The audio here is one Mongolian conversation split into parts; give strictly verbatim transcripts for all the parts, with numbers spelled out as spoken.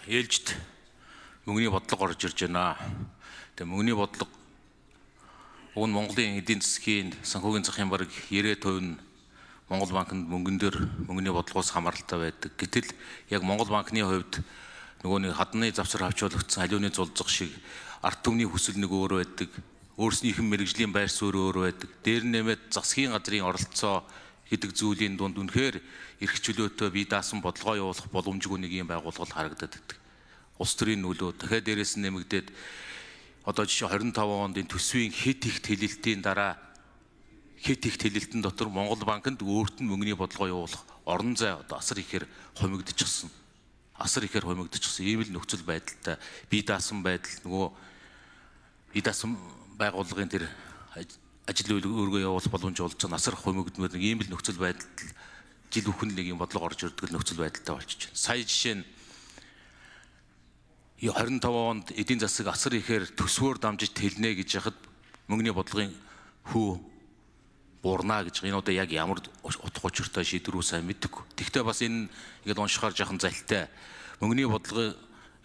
ээлжид мөнгөний бодлого орж ирж байна. Тэгээ мөнгөний бодлого уг нь Монголын эдийн засгийн санхүүгийн захын бараг девяносто хувь нь Монгол банкнд мөнгөн дээр мөнгөний бодлогоос хамааралтай байдаг. Гэтэл яг Монгол банкны хувьд нөгөө нэг хадны завсар хавчуулагдсан халиуны зулцах шиг ард түмний хүсэл нэг өөр байдаг. Өөрснийхэн мэрэгжлийн байр суурь өөр байдаг. Дээр нэмээд засгийн газрын оролцоо гэдэг зүйлийн дунд үнэхээр эрх чөлөөтэй бие даасан бодлогоо явуулах боломжгүй нэг юм байгууллага харагдаад байдаг. Улс төрийн нөлөө дахиад дээрээс нь нэмэгдээд одоо жишээ двадцать пять онд энэ төсвийн хэд их тэлэлтийн дараа хэд их тэлэлтэн дотор Монгол банкнд өөрт нь мөнгөний бодлогоо явуулах орон зай одоо асар ихээр хомигдчихсан. Асар ихээр хомигдчихсан. Ийм л нөхцөл байдалтай бие даасан байдал нөгөө бие даасан байгууллагын тэр ажил өөргөө явуулах боломж олж байгаа асар хомигдмээр нэг ийм л нөхцөл байдал жил бүхэн нэг юм бодлого орж ирдэг нөхцөл байдалтай болчихж байна. Сая жишээ нь двадцать пять онд эдийн засаг асар ихээр төсвөөр дамжиж тэлнэ гэж яхад мөнгөний бодлогын хүү буурна гэж энэ одоо яг ямар утга учиртай шийдвэр үү сайн мэдгүй. Тэгвэл бас энэ ингээд уншихаар жахан залтай мөнгөний бодлогын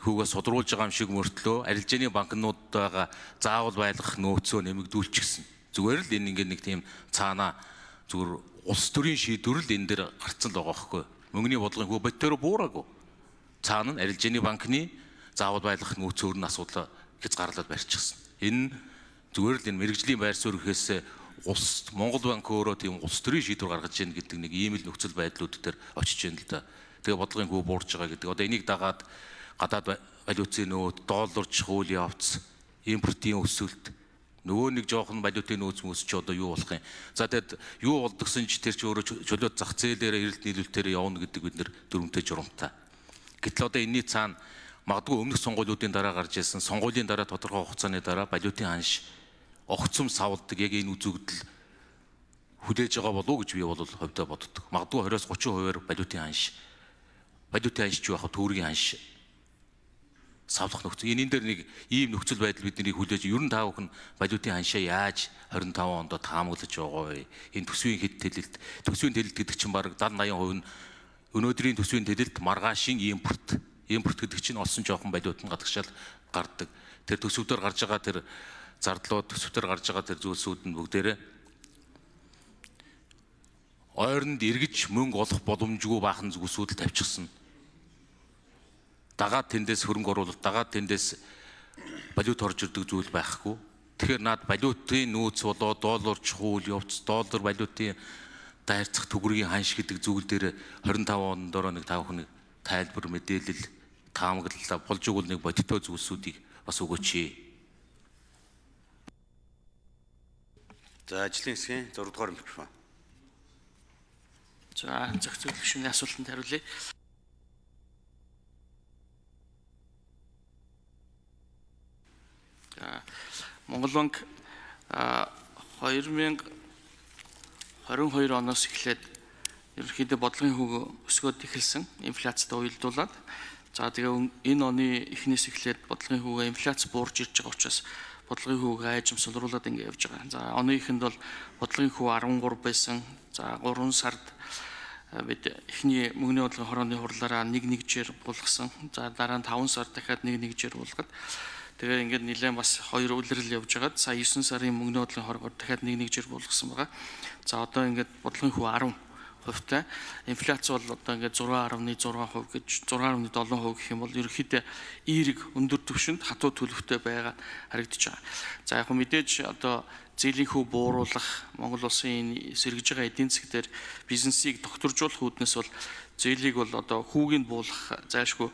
хүүгээс судруулж байгаа юм шиг мөртлөө арилжааны банкнуудаа заавал байлгах нөөцөө нэмэгдүүлчихсэн. Зүгээр л энэ ингээд нэг тийм цаана зүгээр улс төрийн шийдвэр л энэ дээр гарцсан л байгаа байхгүй. Мөнгөний бодлогын хүү бодтоор буураагүй. Цаана нь арилжааны банкны заавал байлгах нөөцөөр нь асуудал хязгаарлаад барьчихсан. Энэ зүгээр л энэ мэрэгжлийн байр суурь гэхээс улс Монгол банк өөрөө тийм улс төрийн шийдвэр гаргаж ийн гэдэг нэг ийм л нөхцөл байдлууд дээр очиж байна л да. Тэгээ бодлогын хүү буурж байгаа гэдэг. Одоо энийг дагаад гадаад валютын нөөц, долларч хуулийн явц, импортын өсөлт нөгөө нэг жоохон валютын нөөц мөс ч одоо юу болох юм. За тэгэд юу болдгсон ч тэр ч өөрөө чөлөөт зах зээлээр эрэлт нийлүүлэлтээр явна гэдэг бид нэр дүрмтэй журамтай. Гэтэл одоо энэний цаана магадгүй өмнөх сонгуулиудын дараа гарч ирсэн сонгуулийн дараа тодорхой хугацааны дараа валютын ханш огцом савладаг яг энэ үзэгдэл хүлээж байгаа болов уу гэж би бол хувьдаа боддог. Магадгүй двадцать-аас тридцать хувиар валютын ханш валютын ханш ч яах вэ төгрөгийн ханш савлах нөхцөл. Энэ энэ дээр нэг ийм нөхцөл байдал бидний хүлээж ер нь таа бүхэн валютын ханшаа яаж двадцать пять онд таамаглаж байгаа вэ? Энэ төсвийн хэд тэлэлт төсвийн тэлэлт гэдэг чинь бараг седьмидесяти хувь нь өнөөдрийн төсвийн тэлэлт маргаашийн импорт импорт гэдэг чинь олсон жоохон валют нь гадагшаал гардаг. Тэр төсвөдөр гарч байгаа тэр зардлууд төсвөдөр гарч байгаа тэр зүйлсүүд нь бүгдээрээ ойронд эргэж мөнгө олох боломжгүй баахан зүйлсүүд л тавьчихсан. Дагаад тэндээс хөрөнгө оруулалт, дагаад тэндээс валют орж ирдэг зүйл байхгүй. Тэгэхээр наад валютын нөөц болоо долларч хууль явц, доллар валютын дайрцах төгрөгийн ханш гэдэг зүйл дээр двадцать пять онд ороо нэг тав хүн тайлбар мэдээлэл таамаглалаа болж игэл нэг бодиттой зүйлсүүдийг бас өгөөч. За ажлын хэсгийн зураг дугаар микрофон. За зах зээл гишүүний асуултанд хариулъя. За Монгол банк две тысячи двадцать two оноос эхлээд ерөнхийдөө бодлогын хөвгөө өсгөөд эхэлсэн инфляцтай уялдуулаад за тэгээ энэ оны эхнээс эхлээд бодлогын хөвгөө инфляц буурж ирж байгаа учраас бодлогын хөвгөө айжим сулруулад ингэ явж байгаа. За оны эхэнд бол бодлогын хөвгөө десять байсан. За гурван сард бид эхний мөнгөний бодлогын хорооны хурлаараа нэг нэгжээр булгасан. За дараа нь таван сар дахиад нэг нэгжээр булгаад тэгээ ингээд нэлээд бас хоёр үлрэл явж байгаад сая девять сарын мөнгөний бодлогын хорогоор дахиад нэг нэгжээр булгасан байгаа. За одоо ингээд бодлогын хөвгөө ten хувьтай инфляц бол одоо ингээд six point six percent гэж six point seven percent гэх юм бол ерөнхийдөө эерэг өндөр түвшинд хатуу төлөвтэй байгаа харагдаж байгаа. За яг мэдээж одоо зээлийн хөв бууруулах Монгол улсын сэргэж байгаа эдийн засаг дээр бизнесийг докторжуулах үүднээс бол зээлийг бол одоо хүүгийг буулгах зайлшгүй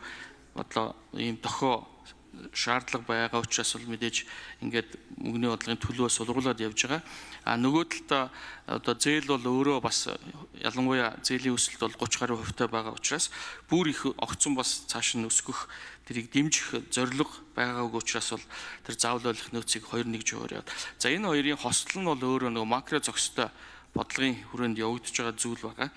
бодлоо ийм дохио шаардлага байгаа учраас бол мэдээж ингээд мөнгөний бодлогын төлөвөө сулруулад явж байгаа. А нөгөө талдаа одоо зээл бол өөрөө бас ялангуяа зээлийн өсөлт бол thirty гаруй хувьтай байгаа учраас бүр их огцон бас цааш нь өсгөх тэрийг дэмжих зорилго байгаагүй учраас бол тэр заавал ойлгох нөөцийг two one жигээр яваад. За энэ хоёрын хослол нь бол өөрөө нөгөө макро зохистой бодлогын хүрээнд явагдаж байгаа зүйл байгаа.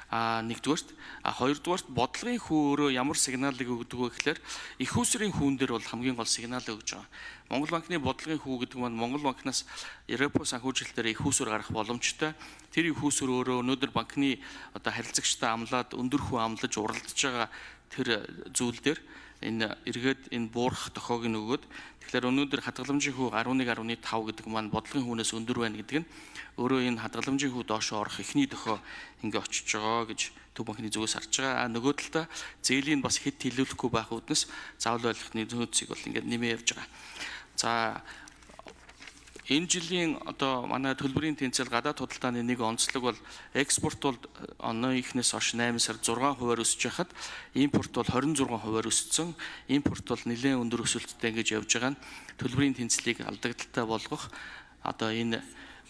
А нэгдүгээрт а хоёрдугаарт бодлогын хүү өөрөө ямар сигналыг өгдөг вэ гэхээр их усрын хүүн дээр бол хамгийн гол сигнал өгж байгаа. Монгол банкны бодлогын хүү гэдэг нь Монгол банкнаас Европ санхүүжилтээр их усүр гарах боломжтой. Тэр их усүр өөрөө өнөөдөр банкны одоо харилцагчтай амлаад өндөр хүү амлаж уралдаж байгаа тэр зүйл дээр энэ эргээд энэ буурах тохиог нь өгөөд тэгэхээр өнөөдөр хадгаламжийн хүү eleven point five гэдэг маань бодлогын хүүнээс өндөр байна гэдэг нь өөрөө энэ хадгаламжийн хүү доошо орох эхний тохио ингээ очиж байгаа гэж төв банкны зүгээс харж байгаа. А нөгөө талдаа зээлийн бас хэд хилүүлэхгүй байх үүднээс заавал ойлгохны нөөцийг бол ингээ нэмээ явж байгаа. За энэ жилийн одоо манай төлбөрийн тэнцэл гадаад худалдааны нэг онцлог бол экспорт бол оны ихнээс хойш eight сард six хувиар өсөж байхад импорт бол twenty-six хувиар өссөн. Импорт бол нэлээд өндөр өсөлттэй ингэж явж байгаа нь төлбөрийн тэнцлийг алдагдaltaй болгох одоо энэ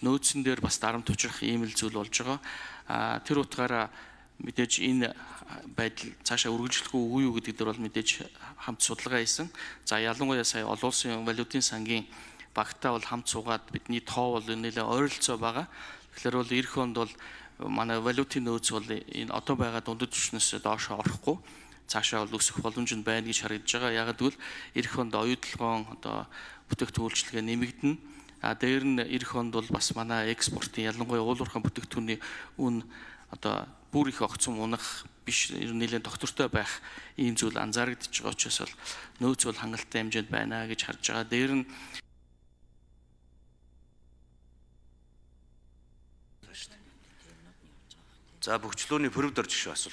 нөөцөн дээр бас дарамт учрах ийм л зүйл болж байгаа. А тэр утгаараа мэдээж энэ байдал цаашаа үргэлжлэх үгүй юу гэдэг дээр бол мэдээж хамт судалгаа хийсэн. За ялангуяа сая олон улсын валютын сангийн багтаа бол хамт суугаад бидний тоо бол нэлээд ойролцоо байгаа. Тэгэхээр бол эх онд бол манай валютын нөөц бол энэ одоо байгаа дундад түвшнээс доош орохгүй цаашаа бол өсөх боломж нь байна гэж харагдаж байгаа. Яг гэвэл эх онд оюутлогоон одоо бүтээгдэхүүн үйлчилгээ нэмэгдэнэ. А дээр нь эх онд бол бас манай экспортын ялангуяа уулуурхайн бүтээгдэхүүний үн одоо бүр их огцом унах биш нэлээд доктортой байх ийм зүйл анзаарэгдэж байгаа учраас бол нөөц бол хангалттай хэмжээнд байна гэж харж байгаа. Дээр нь За бөхчлөөний пөрөвд орж гişүү асуулт.